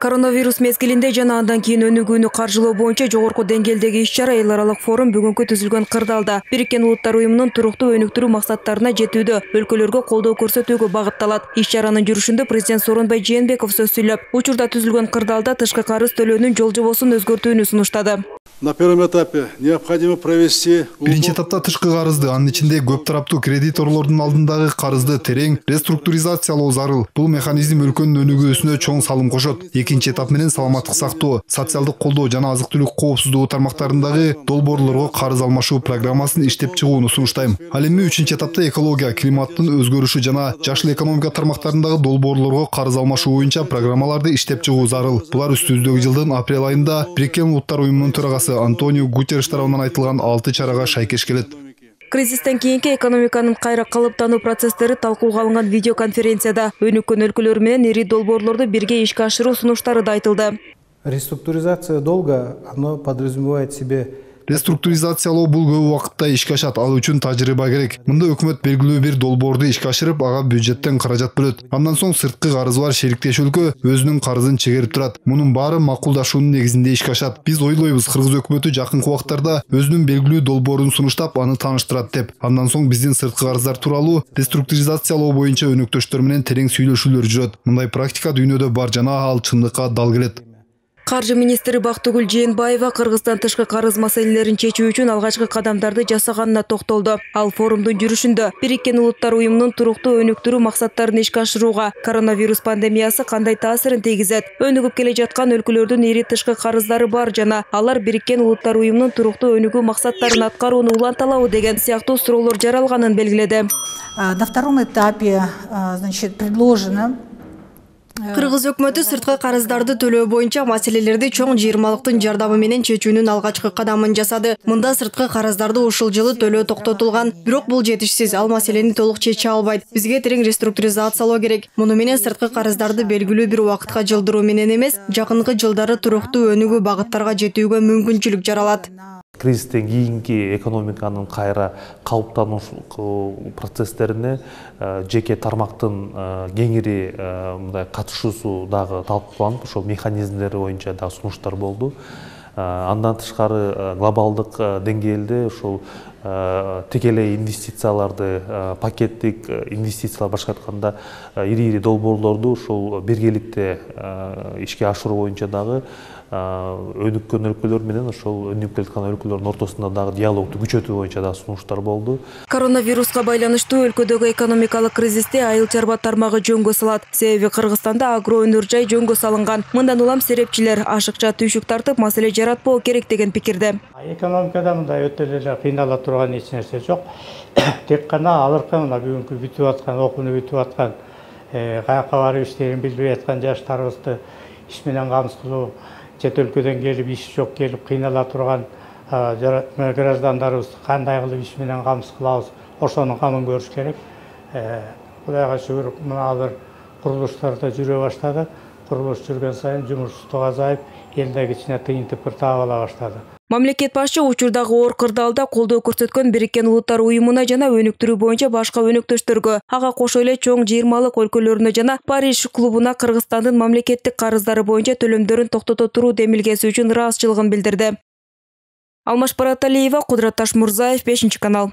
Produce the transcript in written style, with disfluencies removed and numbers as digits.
Коронавирус мезгилинде жана андан кийин өнүгүүнү каржылоо боюнча жогорку деңгээлдеги иш-чара эл аралык форум бүгүнкү түзүлгөн кырдаалда Бириккен Улуттар уюмунун туруктуу өнүктүрүү максаттарына жетүүдө өлкөлөргө колдоо көрсөтүүгө багытталат. Иш-чаранын жүрүшүндө президент Сооронбай Жээнбеков сөз сүйлөп, учурда түзүлгөн кырдаалда тышкы карыз төлөөнүн жол жобосун өзгөртүүнү сунуштады. На первом этапе необходимо провести. Биринчи этапта тышкы карызды, анын ичинде көп тараптуу кредиторлордун алдындагы карызды терең реструктуризациялоо зарыл. Бул механизм өлкөнүн өнүгүүсүнө чоң салым кошот. Экинчи этап менен саламаттык сактоо, социалдык колдоо жана азык-түлүк коопсуздугу тармактарындагы долбоорлорго карыз алмашуу программасын иштеп чыгууну сунуштайм. Ал эми үчүнчү этапта экология, климаттын өзгөрүшү жана жашыл экономика тармактарындагы долбоорлорго карыз алмашуу боюнча программаларды иштеп чыгуу зарыл. Булар үстүбүздөгү жылдын апрель айында Бириккен Улуттар уюмунун төрагасы Антонио Гутерриш тарабынан айтылган 6 чарага шайкеш келет. Кризистен кийинки экономиканын кайра калыптануу процесстери талкууга алынган видеоконференцияда өнүккөн өлкөлөр менен ири долбоорлорду бирге ишке ашыруу сунуштары да айтылды. Реструктуризация долга, оно подразумевает себе. Реструктуризациялоо бул көп убакытта ишке ашат, ал үчүн тажрыйба керек. Мында өкмөт белгилүү бир долбоорду ишке ашырып, ага бюджеттен каражат бөлөт. Андан соң сырткы карызы бар шериктеш өлкө өзүнүн карызын чегерип турат. Мунун баары макулдашуунун негизинде ишке ашат. Биз ойлойбуз, кыргыз өкмөтү жакынкы убактарда өзүнүн белгилүү долбоорун сунуштап, аны тааныштырат деп. Андан соң биздин сырткы карыздар тууралуу реструктуризациялоо боюнча өнөктөштөр менен терең сүйлөшүүлөр жүрөт. Мындай практика дүйнөдө бар жана ал чындыкка дал келет. Каржы министри Бактыгүл Жээнбаева Кыргызстан тышкы карыз маселелерин чечүү үчүн алгачкы кадамдарды жасаганына токтолду. Ал форумдун жүрүшүндө Бириккен Улуттар уюмунун туруктуу өнүктүрүү максаттарын ишке ашырууга коронавирус пандемиясы кандай таасирин тийгизет, өнүгүп келе жаткан өлкөлөрдүн ири тышкы карыздары бар жана алар Бириккен Улуттар уюмунун туруктуу өнүгүү максаттарын аткарууну уланталабы деген сыяктуу суроолор жаралганын белгиледи. На втором этапе, значит, предложено. Кыргыз өкмөтү сырткы карыздарды төлөө боюнча маселелерди чоң жыйырмалыктын жардамы менен чечүүнүн алгачкы кадамын жасады. Мында сырткы карыздарды ушул жылы төлөө токтотулган, бирок бул жетишсиз, ал маселени толук чече албайт. Бизге терең реструктуризациялоо керек. Муну менен сырткы карыздарды белгилүү бир убакытка жылдыруу менен эмес, жакынкы жылдары туруктуу өнүгүү багыттарга жетүүгө мүмкүнчүлүк жаралат. Кризистен кийинки экономиканын кайра калыптануу процесстерине жеке тармактын кеңири мындай катышуусу дагы талкууланып, ошол механизмдери боюнча дагы сунуштар болду. Андан тышкары глобалдык деңгээлде ушул текелей инвестицияларды, пакеттик инвестициялар башка айтканда ири долбоорлорду ушул биргеликте ишке ашыруу боюнча дагы өнүккөн өлкөлөр менен ошол өнүгүп келаткан өлкөлөрдүн ортосунда дагы диалогду күчөтүү боюнча дагы сунуштар болду. Коронавируска байланыштуу өлкөдөгү экономикалык кризисте айыл чарба тармагы жөнгө салат. Себеби Кыргызстанда агро өнөр жай жөнгө салынган. Мындан улам серепчилер ашыкча түйшүк тартып маселе жаратпоо керек деген пикирде. Экономикада мындай өтө эле кыйнала турган эч нерсе жок. Тек гана алыркы мына бүгүнкү бүтүп аткан, окууну бүтүп аткан, каяка барып иштерин билбей аткан жаштарыбызды иш менен камсыз кылуу, чет өлкөдөн келип иш жок келип кыйнала турган граждандарыбызды кандай кылып иш менен камсыз кылабыз, ошонун камын көрүш керек. Кудайга шүгүр, мына азыр курулуштар да жүрө баштады. Курулуш жүргөн сайын жумушсуздук азайып, элде кичине тыйын тыпыр таап ала баштады. Мамлекет башчы учурдагы оор кырдаалда колдоо көрсөткөн Бириккен Улуттар уюмуна жана өнүктүрүү боюнча башка өнөктөштөргө, ага кошо эле чоң жыйырмалык өлкөлөрүнө жана Париж клубуна Кыргызстандын мамлекеттик карыздары боюнча төлөмдөрүн токтото туруу демилгеси үчүн ыраазычылыгын билдирди. Алмаш Бараталиева, Кудурат Ташмурзаев, 5 канал.